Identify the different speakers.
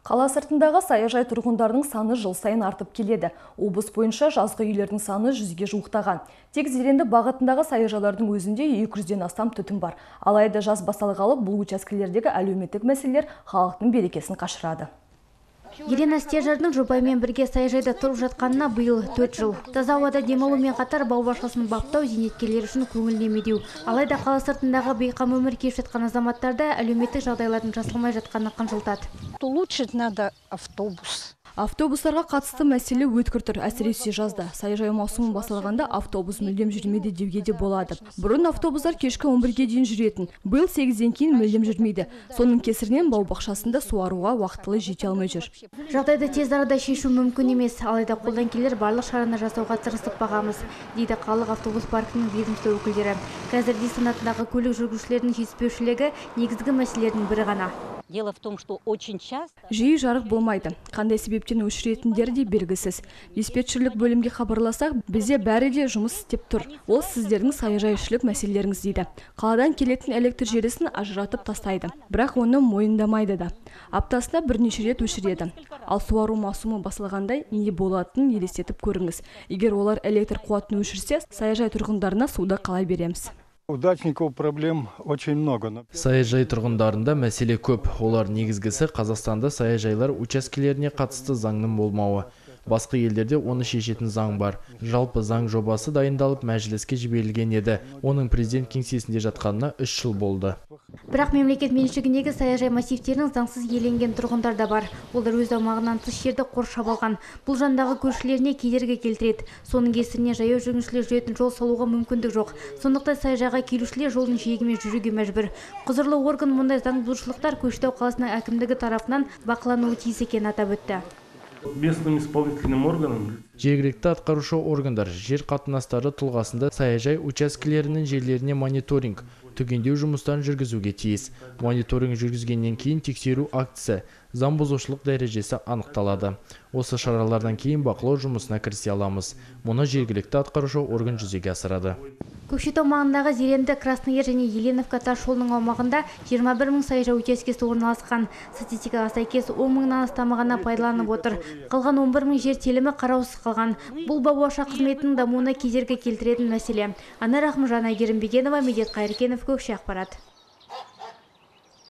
Speaker 1: Қала сыртындағы саяжай тұрғындарының саны жыл сайын артып келеді. Облыс бойынша жазғы үйлердің саны 100-ге жуықтаған. Тек Зеренді бағытындағы саяжайлардың өзінде 200-ден астам түтін бар. Алайда жаз басталғалы бұл учаскелердегі әлеуметтік мәселелер халықтың берекесін қашырады.
Speaker 2: Елена Стержардың жұбайымен бірге саяжайда тұрып жатқанына биыл 4 жыл. Таза ауада демалумен қатар бау-бақшасын баптау зейнеткерлер үшін көңіліне медеу. Алайда қала сыртындағы бейқам өмір кешіп жатқан азаматтарда әлеуметтік жағдайлардың жасалмай жатқаны қынжылтады.
Speaker 3: Улучшить надо автобус.
Speaker 1: Автобустарға қатысты мәселе өткір тұр, әсіресе жазда. Саяжай маусымы басталғанда автобус мүлдем жүрмейді деуге де болады. Бұрын автобустар кешкі 11-ге дейін жүретін. Биыл 8-ден кейін мүлдем жүрмейді. Соның кесірінен бау-бақшасында суаруға уақытылы жете алмай жүр.
Speaker 2: Жағдайды тез арада шешу мүмкін емес, алайда қолдан келер барлық шараны жасауға тырысып бағамыз, дейді қалалық автобус паркінің ведомство өкілдері. Қазір санатындағы көлік жүргізушілерінің жетіспеушілігі негізгі мәселелердің бірі ғана.
Speaker 3: Дело в том, что очень часто
Speaker 1: жиі жарық болмайды. Қандай себептен өшіретіндері де белгісіз. Диспетчерлік бөлімге хабарласақ, бізде бәрі де жұмыс істеп тұр. Ол сіздердің саяжайшылық мәселелеріңіз дейді. Қаладан келетін электр желісін ажыратып тастайды. Бірақ оны мойындамайды да. Аптасына бірнеше рет өшіреді. Ал суару маусымы басылғандай не болатынын елестетіп көріңіз. Егер олар электр қуатын өшірсе, саяжай тұрғындарына суды қалай береміз?
Speaker 4: Удачников проблем очень много.
Speaker 5: Саяжай тұрғындарында мәселе көп. Олар негізгісі Қазақстанда саяжайлар учаскелеріне қатысты заңның болмауы. Басқа елдерде оны шешетін заң бар. Жалпы заң жобасы дайындалып мәжіліске жіберілген еді. Оның президент кеңсесінде жатқанына 3 жыл болды.
Speaker 2: Бірақ мемлекет меншігіндегі саяжай массивтерінің заңсыз иеленген тұрғындар да бар. Олар өз аумағынан тыс жерді қоршап алған. Бұл жандағы көршілеріне кедергі келтіреді. Соның кесірінен жаяу жүргіншілер жүретін жол салуға мүмкіндік жоқ. Сондықтан саяжайға келушілер жолдың жиегімен жүруге мәжбүр. Құзырлы орган мұндай заңбұзушылықтар Көкшетау қаласының әкімдігі тарапынан бақылануы тиіс екенін атап өтті.
Speaker 6: Местным исполнительным органам
Speaker 5: жергілікті атқарушы органдар жер қатынастары тұлғасында саяжай учаскелерінің жерлеріне мониторинг, түгендеу жұмыстарын жүргізуге тиіс. Мониторинг жүргізгеннен кейін тексеру актісі, заң бұзушылық дәрежесі анықталады. Осы шаралардан кейін бақылау жұмысына кірісе аламыз. Мұны жергілікті атқарушы орган жүзеге асырады.
Speaker 2: Көкшетау маңындағы Зеренді, Краснояр және Еленовка тас жолының аумағында 21 мың саяжай учаскесі орналасқан. Статистикаға сәйкес 10 мыңнан астамы ғана пайдаланып отыр. Қалған 11 мың жер телімі қараусыз қалған. Бұл бау-бақша қызметінің дамуына кедергі келтіретін мәселе. Анар Ахмажан, Айгерім Бегенова, Медет Қайыркенов, Көкше ақпарат.